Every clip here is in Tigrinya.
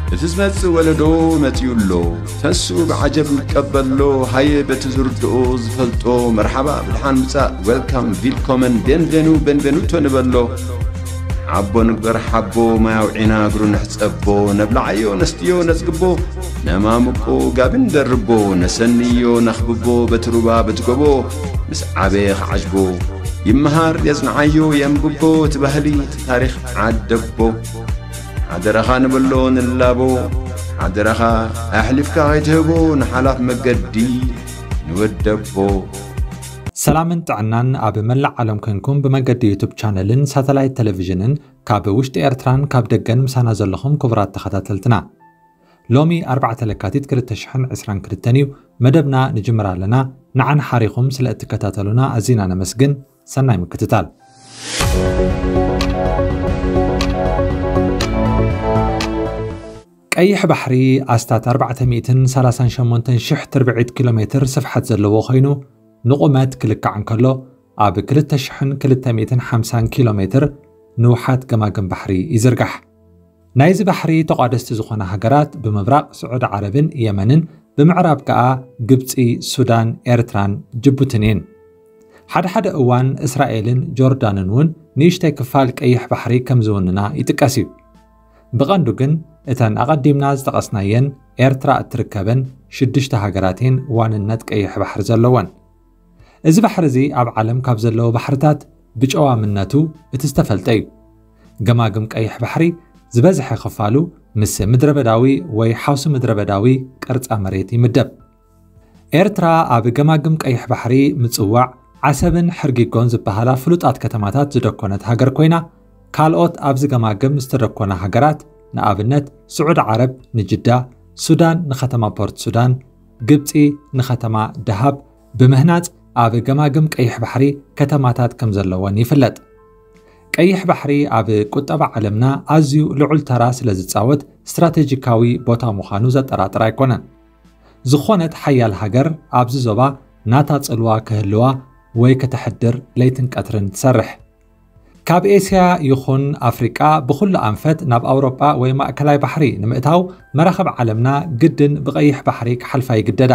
እቲ ዝመጽእ ወለዶ መጺኡ ኣሎ። ተስኡ ብዓጀብ ይቀበሎ። ሃየ በቲ ዝርድኦ ዝፈልጦ መርሓባ ብድሓን ምጻእ፣ ዌልካም፣ ቪልኮመን፣ ቤንቬኑ፣ ቤንቬኑቶ ንበሎ። ዓቦ ንግበር ሓቦ፣ ማይ ኣውዒና እግሩ ንሕጸቦ። ነብልዓዮ ነስትዮ ነጽግቦ፣ ነማምቆ ጋቢ ንደርቦ። ነሰንዮ ነኽብቦ በቲ ሩባ በቲ ጎቦ። ምስ ዓበየ ክዓጅቦ ይመሃር የጽንዓዮ የንብቦ። እቲ ባህሊ እቲ ታሪኽ ዓደቦ። ሓደራኻ ንበሎ ንላቦ። ሓደራኻ ኣሕሊፍካ ከይትህቦ ንሓላፍ መገዲ ንወደቦ። ሰላምን ጥዕናን ኣብ መላእ ዓለም ኮንኩም ብመገዲ ዩቱብ ቻነልን ሳተላይት ቴሌቪዥንን ካብ ውሽጢ ኤርትራን ካብ ደገን ምሳና ዘለኹም ክቡራት ተኸታተልትና፣ ሎሚ ኣርባዕተ ለካቲት ክልተ ሽሕን ዕስራን ክልተን እዩ። መደብና ንጅምር ኣለና። ንዓን ሓሪኹም ስለ እትከታተሉና ኣዚና ነመስግን። ሰናይ ምክትታል። ቀይሕ ባሕሪ ኣስታት ኣርባዕተ ሚእትን ሰላሳን ሸሞንተን ሽሕ ትርብዒት ኪሎ ሜትር ስፍሓት ዘለዎ ኮይኑ፣ ንቑመት ክልካዕ እንከሎ ኣብ ክልተ ሽሕን ክልተ ሚእትን ሓምሳን ኪሎ ሜትር ንውሓት ገማግም ባሕሪ ይዝርጋሕ። ናይዚ ባሕሪ ተቋደስቲ ዝኾና ሃገራት ብምብራቕ ስዑዲ ዓረብን የመንን፣ ብምዕራብ ከኣ ግብጺ፣ ሱዳን፣ ኤርትራን ጅቡትን እየን። ሓደ ሓደ እዋን እስራኤልን ጆርዳንን እውን ንእሽተይ ክፋል ቀይሕ ባሕሪ ከም ዝውንና ይጥቀስ እዩ። ብቐንዱ ግን እተን ኣቐዲምና ዝጠቐስናየን ኤርትራ እትርከበን ሽዱሽተ ሃገራት እየን ዋንነት ቀይሕ ባሕሪ ዘለወን። እዚ ባሕሪ እዚ ኣብ ዓለም ካብ ዘለዉ ባሕርታት ብጨዋምነቱ እቲ ዝተፈልጠ እዩ። ገማግም ቀይሕ ባሕሪ ዝበዝሐ ክፋሉ ምስ ምድረበዳዊ ወይ ሓውሲ ምድረበዳዊ ቅርጻ መሬት ይምደብ። ኤርትራ ኣብ ገማግም ቀይሕ ባሕሪ ምጽዋዕ ዓሰብን ሕርጊጎን ዝበሃላ ፍሉጣት ከተማታት ዝደኮነት ሃገር ኮይና፣ ካልኦት ኣብዚ ገማግም ዝተደኮና ሃገራት ንኣብነት ስዑዲ ዓረብ ንጅዳ፣ ሱዳን ንከተማ ፖርት ሱዳን፣ ግብጺ ንከተማ ደሃብ ብምህናጽ ኣብ ገማግም ቀይሕ ባሕሪ ከተማታት ከም ዘለወን ይፍለጥ። ቀይሕ ባሕሪ ኣብ ቁጠባ ዓለምና ኣዝዩ ልዑል ተራ ስለ ዝጻወት ስትራቴጂካዊ ቦታ ምዃኑ ዘጠራጥር ኣይኮነን። ዝኾነት ሓያል ሃገር ኣብዚ ዞባ ናታ ጽልዋ ክህልዋ ወይ ከተሕድር ለይትን ቀትርን ትሰርሕ። ካብ ኤስያ ይኹን ኣፍሪቃ ብኹሉ ኣንፈት ናብ ኣውሮጳ ወይ ማእከላይ ባሕሪ ንምእታው መራኽብ ዓለምና ግድን ብቐይሕ ባሕሪ ክሓልፋ ይግደዳ።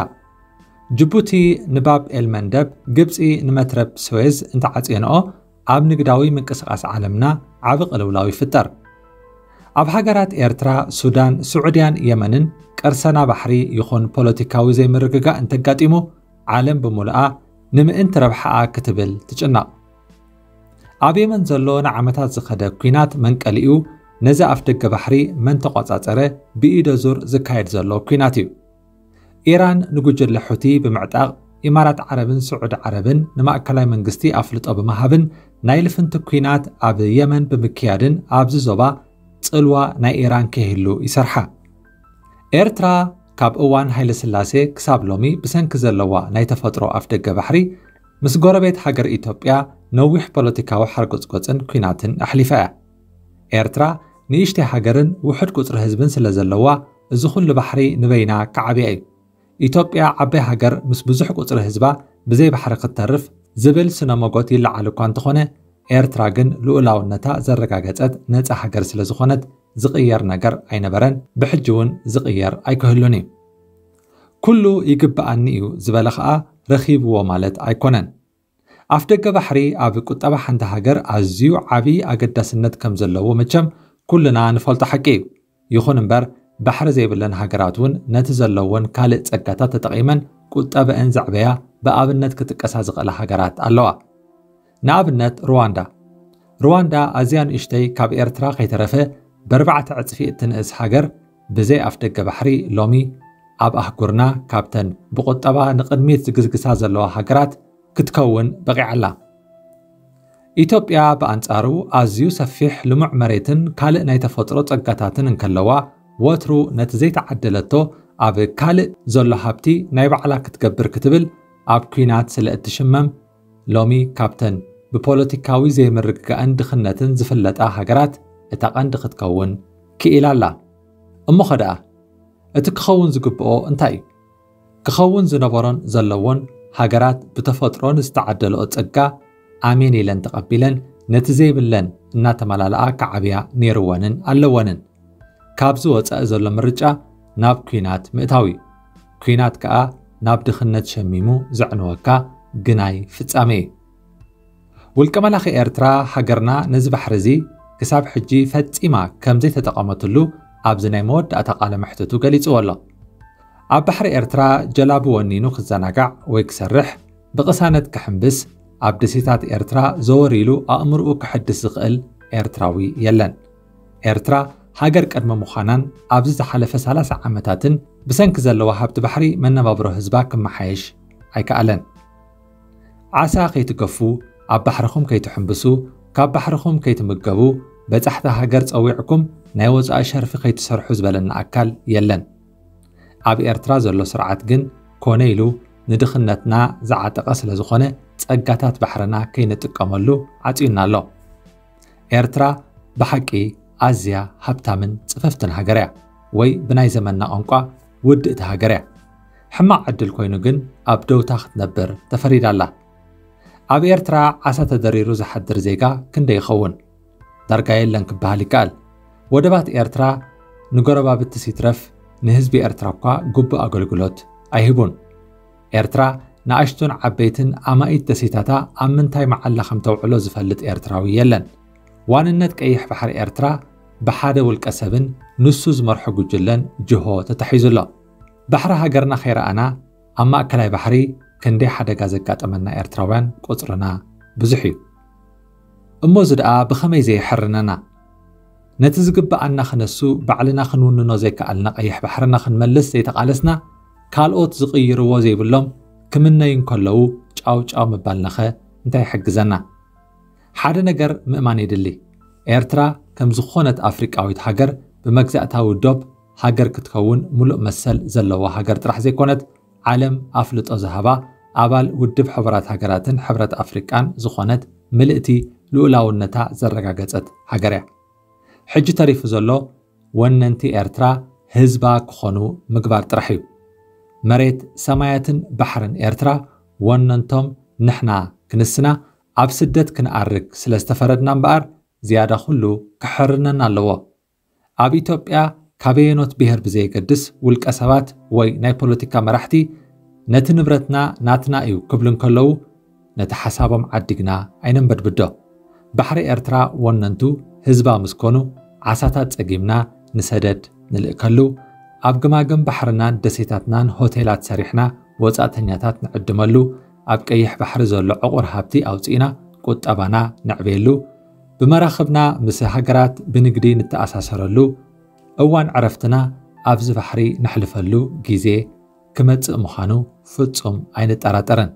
ጅቡቲ ንባብ ኤልመንደብ፣ ግብጺ ንመትረብ ስዌዝ እንተዓጽየንኦ ኣብ ንግዳዊ ምንቅስቓስ ዓለምና ዓቢ ቅልውላው ይፍጠር። ኣብ ሃገራት ኤርትራ፣ ሱዳን፣ ስዑድያን የመንን ቅርሰና ባሕሪ ይኹን ፖለቲካዊ ዘይምርግጋእ እንተጋጢሙ ዓለም ብምሉኣ ንምእንቲ ረብሓኣ ክትብል ትጭነቕ። ኣብ የመን ዘሎ ንዓመታት ዝኸደ ኲናት መንቀሊኡ ነዚ ኣፍደገ ባሕሪ መን ተቖጻጸረ ብኢደ ዙር ዝካየድ ዘሎ ኲናት እዩ። ኢራን ንጉጅለ ሑቲ ብምዕጣቕ ኢማራት ዓረብን ስዑዲ ዓረብን ንማእከላይ መንግስቲ ኣፍልጦ ብምሃብን ናይ ልፍንቲ ኲናት ኣብ የመን ብምክያድን ኣብዚ ዞባ ጽልዋ ናይ ኢራን ከይህሉ ይሰርሓ። ኤርትራ ካብ እዋን ሃይለስላሴ ክሳብ ሎሚ ብሰንኪ ዘለዋ ናይ ተፈጥሮ ኣፍደገ ባሕሪ ምስ ጎረቤት ሃገር ኢትዮጵያ ነዊሕ ፖለቲካዊ ሓርጎጽጎጽን ኲናትን ኣሕሊፋ እያ። ኤርትራ ንእሽተይ ሃገርን ውሑድ ቁጽሪ ህዝብን ስለ ዘለዋ እዚ ኩሉ ባሕሪ ንበይና ክዓብያ እዩ። ኢትዮጵያ ዓባይ ሃገር ምስ ብዙሕ ቁጽሪ ህዝባ ብዘይ ባሕሪ ክትተርፍ ዝብል ስነ ሞጎት ይለዓል እኳ እንተኾነ ኤርትራ ግን ልኡላውነታ ዘረጋገጸት ነጻ ሃገር ስለ ዝኾነት ዝቕየር ነገር ኣይነበረን፣ ብሕጂ እውን ዝቕየር ኣይክህሉን እዩ። ኩሉ ይግብኣኒ እዩ ዝበለ ኸኣ ረኺብዎ ማለት ኣይኮነን። ኣፍደገ ባሕሪ ኣብ ቁጠባ ሓንቲ ሃገር ኣዝዩ ዓቢ ኣገዳስነት ከም ዘለዎ መቸም ኩልና ንፈልጦ ሓቂ እዩ። ይኹን እምበር ባሕሪ ዘይብለን ሃገራት እውን ነቲ ዘለወን ካልእ ጸጋታት ተጠቒመን ቁጠበአን ዘዕበያ ብኣብነት ክጥቀሳ ዝኽእላ ሃገራት ኣለዋ። ንኣብነት ሩዋንዳ። ሩዋንዳ ኣዝያ ንእሽተይ ካብ ኤርትራ ከይተረፈ ብኣርባዕተ ዕጽፊ እትንእስ ሃገር ብዘይ ኣፍደገ ባሕሪ ሎሚ ኣብ ኣህጉርና ካብተን ብቁጠባ ንቕድሚት ዝግዝግሳ ዘለዋ ሃገራት ክትከውን በቒዓ ኣላ። ኢትዮጵያ ብኣንጻሩ ኣዝዩ ሰፊሕ ልሙዕ መሬትን ካልእ ናይ ተፈጥሮ ጸጋታትን እንከለዋ ወትሩ ነቲ ዘይተዓደለቶ ኣብ ካልእ ዘሎ ሃብቲ ናይ ባዕላ ክትገብር ክትብል ኣብ ኲናት ስለ እትሽመም ሎሚ ካብተን ብፖለቲካዊ ዘይምርግጋእን ድኽነትን ዝፍለጣ ሃገራት እታ ቀንዲ ክትከውን ክኢላ ኣላ። እሞኸ ደኣ እቲ ክኸውን ዝግብኦ እንታይ እዩ? ክኸውን ዝነበሮን ዘለዎን ሃገራት ብተፈጥሮ ንዝተዓደልኦ ጸጋ ኣሜን ኢለን ተቐቢለን ነቲ ዘይብለን እናተመላልኣ ክዓብያ ነይርወንን ኣለወንን። ካብዚ ወጻኢ ዘሎ ምርጫ ናብ ኲናት ምእታው እዩ። ኲናት ከኣ ናብ ድኽነት ሸሚሙ ዘዕንወካ ግናይ ፍጻሜ እዩ። ውልቀ መላኺ ኤርትራ፣ ሃገርና ነዚ ባሕሪ እዚ ክሳብ ሕጂ ፈጺማ ከም ዘይተጠቐመትሉ ኣብዚ ናይ መወዳእታ ቃለ መሕትቱ ገሊጽዎ ኣሎ። ኣብ ባሕሪ ኤርትራ ጀላቡ ወኒኑ ክዘናጋዕ ወይ ክሰርሕ፣ ብቕሳነት ክሕምብስ፣ ኣብ ደሴታት ኤርትራ ዘወር ኢሉ ኣእምርኡ ክሕድስ ዝኽእል ኤርትራዊ የለን። ኤርትራ ሃገር ቅድሚ ምዃናን ኣብዚ ዝሓለፈ ሰላሳ ዓመታትን ብሰንኪ ዘለዋ ሃብቲ ባሕሪ መነባብሮ ህዝባ ክመሓየሽ ኣይከኣለን። ዓሳ ከይትገፉ፣ ኣብ ባሕርኹም ከይትሕምብሱ፣ ካብ ባሕርኹም ከይትምገቡ፣ በጻሕቲ ሃገር ጸዊዕኩም ናይ ወጻኢ ሸርፊ ከይትሰርሑ ዝበለና ኣካል የለን። ኣብ ኤርትራ ዘሎ ስርዓት ግን ኮነ ኢሉ ንድኽነትና ዝዓጠቐ ስለ ዝኾነ ጸጋታት ባሕርና ከይንጥቀመሉ ዓጽዩና ኣሎ። ኤርትራ ብሓቂ ኣዝያ ሃብታምን ጽፍፍትን ሃገር እያ፣ ወይ ብናይ ዘመንና ቋንቋ ውድእቲ ሃገር እያ። ሕማቕ ዕድል ኮይኑ ግን ኣብ ደውታ ክትነብር ተፈሪዳ ኣላ። ኣብ ኤርትራ ዓሳ ተደሪሩ ዝሓድር ዜጋ ክንደይ ይኸውን? ዳርጋ የለን ክበሃል ይከኣል። ወደባት ኤርትራ ንጎረባብቲ ሲትረፍ ንህዝቢ ኤርትራ እኳ ግቡእ ኣገልግሎት ኣይህቡን። ኤርትራ ንኣሽቱን ዓበይትን ኣማኢት ደሴታታ ኣብ ምንታይ መዓላ ከም ተውዕሎ ዝፈልጥ ኤርትራዊ የለን። ዋንነት ቀይሕ ባሕሪ ኤርትራ ብሓደ ውልቀ ሰብን ንሱ ዝመርሖ ጉጅለን ጅሆ ተታሒዙ ኣሎ። ባሕሪ ሃገርና ከይረኣና ኣብ ማእከላይ ባሕሪ ክንደይ ሓደጋ ዘጋጠመና ኤርትራውያን ቁጽርና ብዙሕ እዩ። እሞ እዚ ደኣ ብኸመይ ዘየሕርነና? ነቲ ዝግብኣና ክነሱ ባዕልና ክንውንኖ ዘይከኣልና ቀይሕ ባሕርና ክንመልስ ዘይተቓለስና፣ ካልኦት ዝቕይርዎ ዘይብሎም ክምነዩ እንከለዉ ጫው ጫው ምባልናኸ እንታይ ይሕግዘና? ሓደ ነገር ምእማን የድሊ። ኤርትራ ከም ዝኾነት ኣፍሪቃዊት ሃገር ብመግዛእታዊ ዶብ ሃገር ክትከውን ሙሉእ መሰል ዘለዋ ሃገር ጥራሕ ዘይኮነት፣ ዓለም ኣፍልጦ ዝሃባ ኣባል ውድብ ሕቡራት ሃገራትን ሕብረት ኣፍሪቃን ዝኾነት ምልእቲ ልኡላውነታ ዘረጋገጸት ሃገር እያ። ሕጂ ተሪፉ ዘሎ ወነንቲ ኤርትራ ህዝባ ክኾኑ ምግባር ጥራሕ እዩ። መሬት፣ ሰማያትን ባሕርን ኤርትራ ወነንቶም ንሕና ክንስና ኣብ ስደት ክንኣርግ ስለ ዝተፈረድና እምበኣር ዝያዳ ኩሉ ክሕርነና ኣለዎ። ኣብ ኢትዮጵያ ካበየኖት ብሄር ብዘየገድስ ውልቀ ሰባት ወይ ናይ ፖለቲካ መራሕቲ ነቲ ንብረትና ናትና እዩ ክብሉ እንከለዉ ነቲ ሓሳቦም ዓዲግና ኣይነንበድብዶ። ባሕሪ ኤርትራ ወነንቱ ህዝባ ምስ ኮኑ ዓሳታት ጸጊምና ንሰደድ ንልእከሉ፣ ኣብ ግማግም ባሕርናን ደሴታትናን ሆቴላት ሰሪሕና ወጻእተኛታት ንዕድመሉ፣ ኣብ ቀይሕ ባሕሪ ዘሎ ዕቑር ሃብቲ ኣውጺእና ቁጠባና ነዕብየሉ፣ ብመራኽብና ምስ ሃገራት ብንግዲ ንተኣሳሰረሉ፣ እዋን ዕረፍትና ኣብዚ ባሕሪ ነሕልፈሉ ግዜ ክመጽእ ምዃኑ ፍጹም ኣይንጠራጠርን።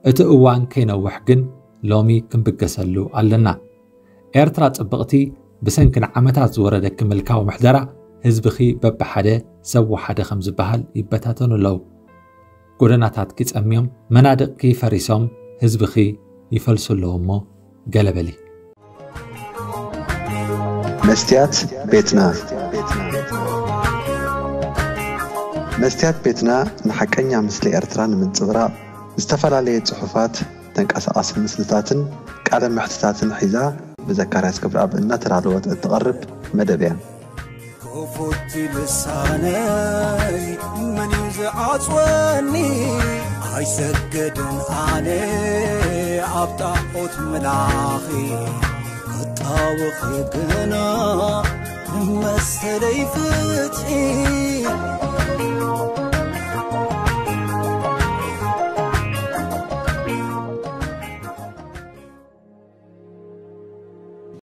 እቲ እዋን ከይነውሕ ግን ሎሚ ክንብገሰሉ ኣለና። ኤርትራ ጽብቕቲ ብሰንኪ ንዓመታት ዝወረደኪ ምልካዊ ምሕደራ ህዝብኺ በብሓደ ሰብ ወሓደ ከም ዝበሃል ይበታተኑ ኣለዉ። ጎደናታትኪ ጸምዮም፣ መናድቕኪ ፈሪሶም ህዝብኺ ይፈልሱ ኣለዉ እሞ ገለ በሊ። መስትያት ቤትና። መስትያት ቤትና ንሓቀኛ ምስሊ ኤርትራ ንምንጽብራቕ ዝተፈላለየ ጽሑፋት፣ ተንቀሳቓሲ ምስልታትን ቃለ መሕትታትን ሒዛ ብዘካርያስ ክብረኣብ እናተዳለወት እትቐርብ መደብ እያ። ክፉት ልሳነይ መን እዩ ዝዓጽወኒ? ኣይሰገድን ኣነ ኣብ ጣዖት ምላኺ ክጣወኺ ግና ንመሰለይ ፍትሒ